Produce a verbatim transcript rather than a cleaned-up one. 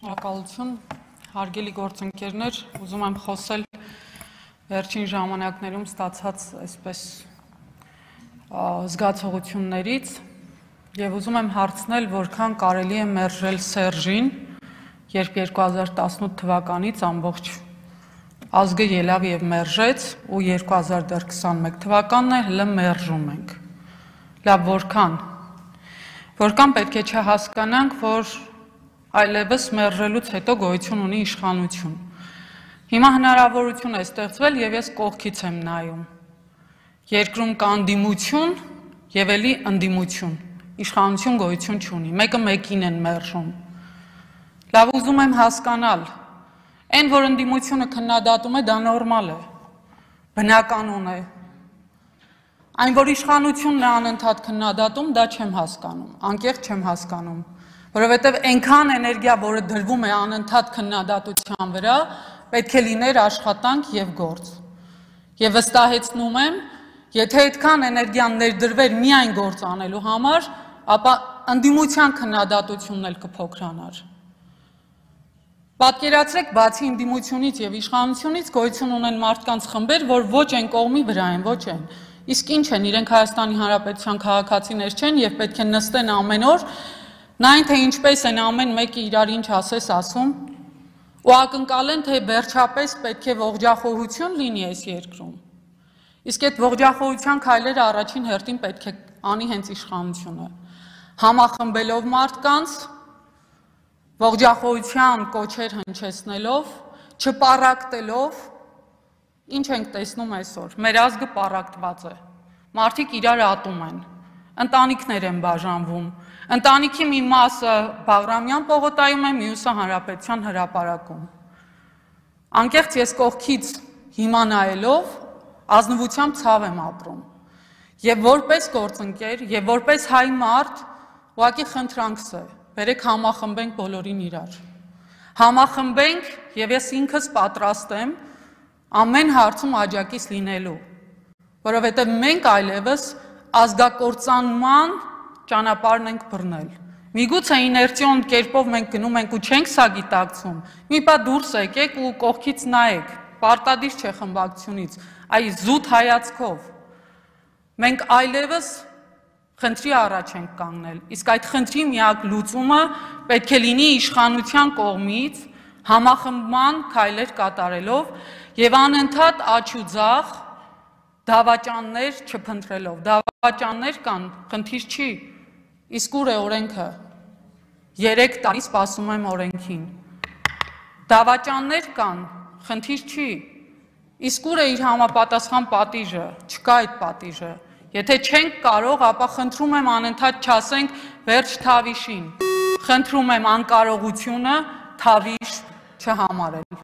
Շնորհակալություն, հարգելի գործընկերներ, ուզում եմ խոսել վերջին ժամանակներում ստացած այսպես զգացողություններից եւ ուզում եմ հարցնել, որքան կարելի է մերժել Սերժին, երբ երկու հազար տասնութ թվականից ամբողջ ազգը ելավ եւ մերժեց ու երկու հազար քսաներկու թվականն է հլը մերժում ենք։ Լավ, որքան որքան պետք է չհասկանանք, որ այլևս մերժելուց հետո գոյություն ունի իշխանություն։ Հիմա հնարավորություն է ստեղծվել եւ ես կողքից եմ նայում։ Երկրում կա ընդդիմություն եւ էլի ընդդիմություն։ Իշխանություն գոյություն չունի։ Մեկը մեկին են մերժում։ Լավ, ուզում եմ հասկանալ, այն որ ընդդիմությունը քննադատում է, դա նորմալ է, բնականon է։ Այն որ իշխանությունն է անընդհատ քննադատում, դա չեմ հասկանում, անկեղծ չեմ հասկանում, որովհետև այնքան էներգիա, որը դրվում է անընդհատ քննադատության վրա, պետք է լիներ աշխատանք եւ գործ։ Եվ վստահեցնում եմ, եթե այդքան էներգիան ներդրվեր միայն գործ անելու համար, ապա ընդդիմության քննադատությունն էլ կփոքրանար։ Պատկերացրեք, բացի ընդդիմությունից եւ իշխանությունից գոյություն ունեն մարդկանց խմբեր, որ ոչ այն կողմի վրա են, ոչ այն։ Իսկ ինչ են, իրենք Հայաստանի Հանրապետության քաղաքացիներ չեն եւ պետք է նստեն ամեն օր, նայն թե ինչպես են ամեն մեկը իրար ինչ ասես ասում, ու ակնկալեն, թե վերջապես պետք է ողջախոհություն լինի այս երկրում։ Իսկ այդ ողջախոհության քայլերը առաջին հերթին պետք է անի հենց իշխանությունը, համախմբելով մարդկանց, ողջախոհության կոչեր հնչեցնելով, չպառակտելով։ Ինչ ենք տեսնում այսօր, մեր ազգը պառակտված է, մարդիկ իրար ատում են, ընտանիքներ են բաժանվում, ընտանիքի մի մասը Բաղրամյան պողոտայում է, մյուսը Հանրապետության հրապարակում։ Անկեղծ ես կողքից հիմա նայելով ազնվությամբ ցավ եմ ապրում։ Եվ որպես գործընկեր, եւ որպես հայ մարդ, ուղղակի խնդրանքս է, բերեք համախմբենք բոլորին իրար։ Համախմբենք եւ ես ինքս պատրաստ եմ ամեն հարցում աջակից լինելու, որովհետև մենք այլևս ազգակործանման ճանապարհն ենք բռնել։ Միգուցե իներցիոն կերպով մենք գնում ենք ու չենք սա գիտակցում, մի պա դուրս եկեք ու կողքից նայեք, պարտադիր չէ խմբակցությունից, այ զուտ հայացքով։ Մենք այլևս խնդրի առաջ ենք կանգնել, իսկ այդ խնդրի միակ լուծումը պետք է լինի իշխանության կողմից համախմբման քայլեր կատարելով եւ անընդհատ աջ ու ձախ դավաճաններ չփնտրելով։ Դավաճաններ կան, խնդիր չի, իսկ ուր է օրենքը։ Երեք տարի սպասում եմ օրենքին։ Դավաճաններ կան, խնդիր չի, իսկ ուր է իր համապատասխան պատիժը, չկա այդ պատիժը։ Եթե չենք կարող, ապա խնդրում եմ անընդհատ չասենք վերջ թավիշին։ Խնդրում եմ անկարողությունը թավիշ չհամարել։